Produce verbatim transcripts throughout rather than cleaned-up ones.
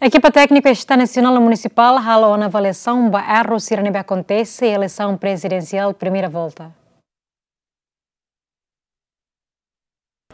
Ekipa tékniku STAE nasionál no munisipál halo ona avaliasaun ba erru sira ne'ebé akontese iha eleisaun prezidensiál primeira volta.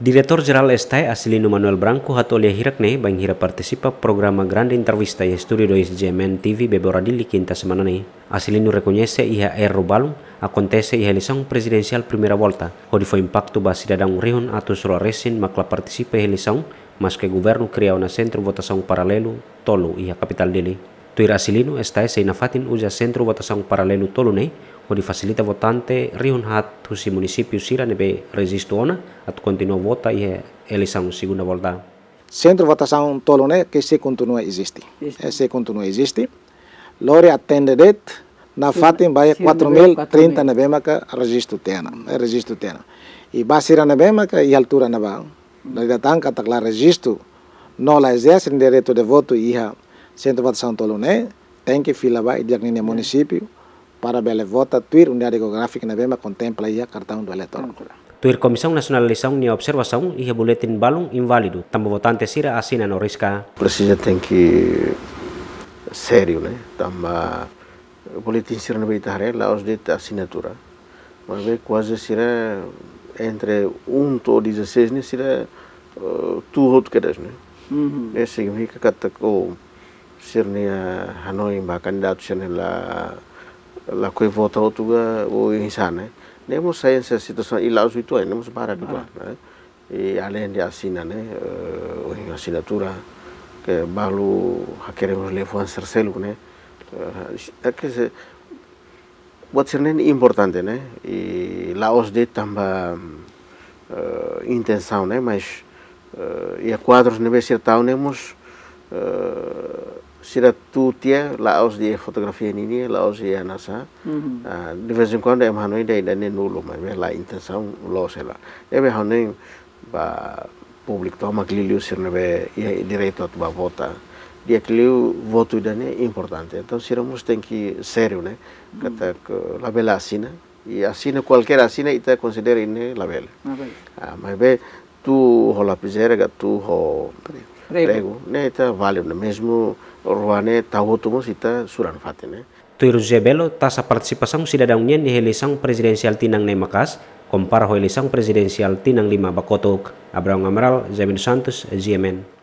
Diretór Jerál STAE, Acilino Manuel Branco, hato'o lia hirak-ne'e bainhira partisipa programa Grande Entrevista iha Estúdiu dois GMN TV Bebora Dili, kinta semana ne'e. Acilino rekoñese iha erru balun akontese iha eleisaun prezidensiál primeira volta, hodi fó impaktu ba sidadaun rihun atus rua resin mak la partisipa iha eleisaun, maske governu kria ona sentru votasaun paralelu tolu iha kapitál Dili. Tuir Acilino, STAE sei nafatin uza sentru votasaun paralelu tolu ne'e hodi fasilita votante rihun haat husi munisípiu sira ne'ebé rejistu ona atu kontinua vota iha eleisaun segunda volta. Sentru votasaun tolu ne'e ke sei kontinua eziste. Eziste. Eh, sei kontinua eziste. Lori atende de'it nafatin ba iha sira ne'ebé quatro mil trinta quatro mil ne'ebé maka rejistu tiha ona, eh, rejistu tiha ona. I ba sira ne'ebé maka iha altura ne'ebá, dala ida tan katak la rejistu no la ezerse direitu de votu iha sentru votasaun tolu ne'e, tenke fila ba iha di'ak ninia munisípiu para bele vota tuir unidade jeográfika ne'ebé mak kontempla iha kartaun do eleitór. Tuir Komisaun Nasionál Eleisaun nia observasaun, iha buletin balun inválidu tanba votante sira asina no riska. Presiza tenke sériu, ne'e? Tanba buletin sira ne'ebé ita haree la'ós de'it asinatura. Maibé kuaze sira entre um to'o dezasseis ne'e sira, eh, tuur hotu kedas, ne'e? Uhum. Ne'e signifika katak sira-nia hanoin ba kandidatu sira-ne'e la, lakohi vota hotu ka oinsá, ne'e? Ne'e mós sai hanesan situasaun i la'ós uitoan, ne'e mós barak uitoan, ne'e? I aleinde asina, ne'e, eh, ohin asinatura, ke balu hakerek mós liafuan sira seluk, ne'e? Eh, é que se, buat sira-ne'e importante, ne'e? I la'ós de'it tanba, eh, intensaun, ne'e? Mas, eh, iha kuadrus ne'ebé sira tau ne'e mós, eh, sira tuur tiha, la'ós de'it fotografia ninia, la'ós de'it hanesan. Uhum. Ah, de vez em quando ema hanoin ida-ne'e nulu, maibé la intensaun loos hela. Ne'ebé hanoin ba públiku tomak liuliu sira ne'ebé iha direitu atu ba vota. Di'ak liu votu ida-ne'e importante. Entaun sira mós tenke sériu, ne'e? Uhum. Katak labele asina. I asina, kualkér asina ita konsidera ne'e labele. Labele. Ah, maibé tuur ho lapizeira ka tuur ho pregu, ne'e ita válidu, ne'e? Mezmu rua ne'e tau hotu mós ita sura nafatin, ne'e? Tuir José Belo, taxa partisipasaun sidadaun nian iha eleisaun prezidensiál tinan ne'e maka'as, kompara ho eleisaun prezidensiál tinan lima ba kotuk. Abraão Amaral, Jaime dos Santos, GMN.